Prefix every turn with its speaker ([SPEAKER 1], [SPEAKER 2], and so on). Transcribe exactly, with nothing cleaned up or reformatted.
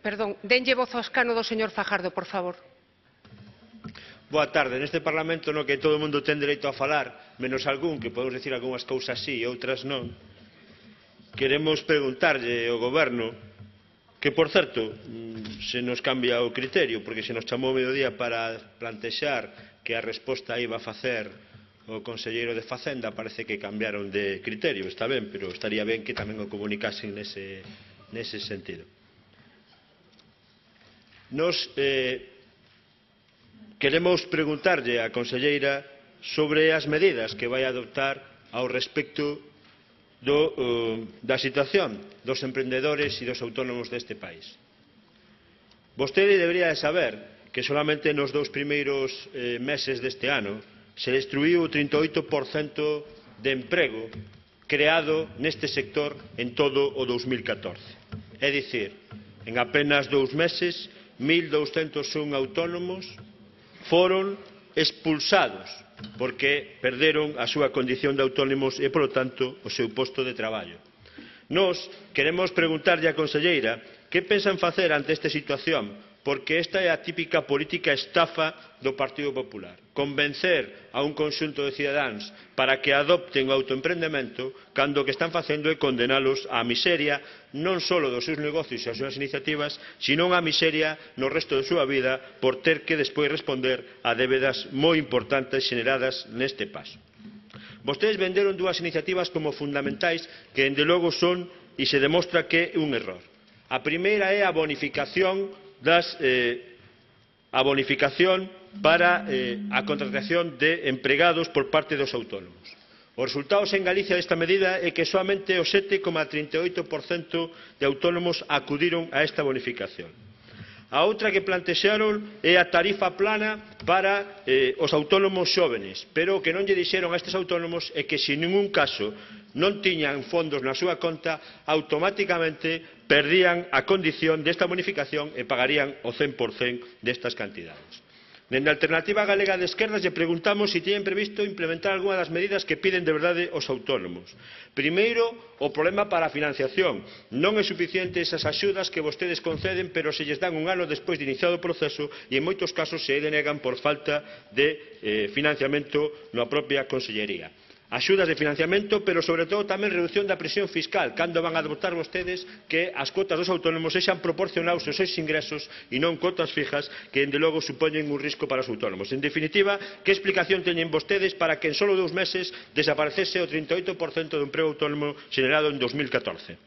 [SPEAKER 1] Perdón, denlle voz ao escano do señor Fajardo, por favor.
[SPEAKER 2] Boa tarde. Neste Parlamento no que todo o mundo ten dereito a falar, menos algún, que podemos decir algunhas cousas sí e outras non, queremos preguntarlle ao Goberno que, por certo, se nos cambia o criterio, porque se nos chamou o mediodía para plantexar que a resposta iba a facer o conselleiro de Facenda, parece que cambiaron de criterio. Está ben, pero estaría ben que tamén o comunicasen nese, nese sentido. Nos eh, queremos preguntarlle á conselleira sobre as medidas que vai adoptar ao respecto do, uh, da situación dos emprendedores e dos autónomos deste país. Vostede debería de saber que solamente nos dous primeiros eh, meses deste ano se destruiu o trinta e oito por cento de emprego creado neste sector en todo o dous mil catorce. É dicir, en apenas dous meses, mil douscentos un autónomos foron expulsados porque perderon a súa condición de autónomos e, polo tanto, o seu posto de traballo. Nós queremos preguntarlle á conselleira que pensan facer ante esta situación, porque esta é a típica política estafa do Partido Popular. Convencer a un conxunto de cidadáns para que adopten o autoemprendemento cando o que están facendo é condenalos á miseria non só dos seus negocios e as súas iniciativas, sino á miseria no resto da súa vida por ter que despois responder a débedas moi importantes xeneradas neste paso. Vostedes venderon dúas iniciativas como fundamentais que, dende logo, son e se demostra que é un error. A primeira é a bonificación das, eh, a bonificación para eh, a contratación de empregados por parte dos autónomos. Os resultados en Galicia desta medida é que soamente o sete coma trinta e oito por cento de autónomos acudiron a esta bonificación. A outra que plantexaron é a tarifa plana para eh, os autónomos xóvenes, pero o que non lle dixeron a estes autónomos é que se en ningún caso non tiñan fondos na súa conta, automáticamente perdían a condición desta bonificación e pagarían o cen por cento destas cantidades. Dende a Alternativa Galega de Esquerdas lle preguntamos se teñen previsto implementar algunha das medidas que piden de verdade os autónomos. Primeiro, o problema para a financiación. Non é suficiente esas axudas que vostedes conceden, pero se lles dan un ano despois de iniciado o proceso e en moitos casos se denegan por falta de eh, financiamento na propia Consellería. Axudas de financiamento, pero sobre todo tamén reducción da presión fiscal, cando van a adoptar vostedes que as cuotas dos autónomos sexan proporcionados aos seus ingresos e non cuotas fijas que, dende logo, supoñen un risco para os autónomos. En definitiva, que explicación teñen vostedes para que en só dous meses desaparecese o trinta e oito por cento do emprego autónomo xenerado en dos mil catorce?